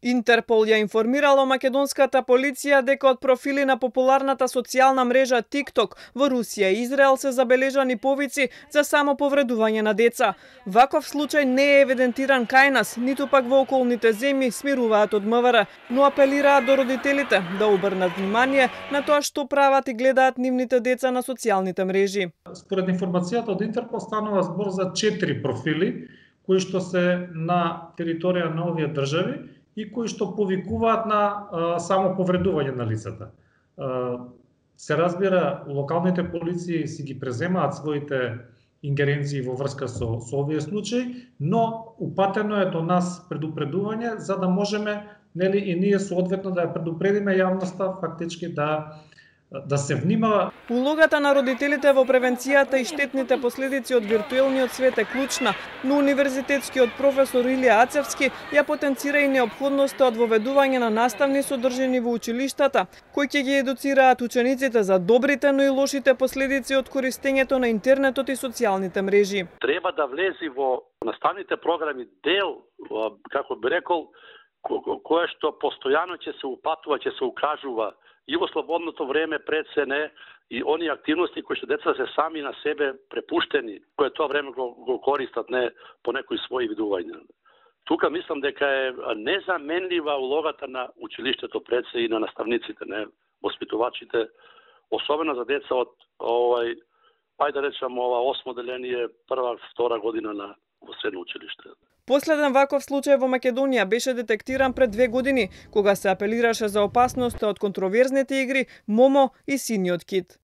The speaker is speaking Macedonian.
Интерпол ја информирало македонската полиција дека од профили на популарната социјална мрежа TikTok во Русија и Израел се забележани повици за самоповредување на деца. Ваков случај не е евидентиран кај нас, ниту пак во околните земји, смируваат од МВР, но апелираат до родителите да обрнат внимание на тоа што прават и гледаат нивните деца на социјалните мрежи. Според информацијата од Интерпол станува збор за 4 профили кои што се на територија на овие држави и кои што повикуваат на самоповредување на лицата. Се разбира, локалните полиции си ги преземаат своите ингеренции во врска со овие случаи, но упатено е до нас предупредување за да можеме, нели, и ние соодветно да ја предупредиме јавноста фактички да се внимава. Улогата на родителите во превенцијата и штетните последици од виртуелниот свет е клучна, но универзитетскиот професор Илија Ацевски ја потенцира и неопходноста од воведување на наставни содржини во училиштата, кои ќе ги едуцираат учениците за добрите, но и лошите последици од користењето на интернетот и социјалните мрежи. Треба да влези во наставните програми дел, како би рекол, кое што постојано ќе се упатува, ќе се укажува и во слободното време пред се не, и они активности кои што деца се сами на себе препуштени, кои тоа време го користат не по некои своји видувања. Тука мислам дека е незаменлива улогата на училиштето пред се и на наставниците, не, воспитувачите, особено за деца од ајде да речам ова 8 деление, прва, втора година во средно училиште. Последен ваков случај во Македонија беше детектиран пред 2 години, кога се апелираше за опасноста од контроверзните игри Момо и Синиот кит.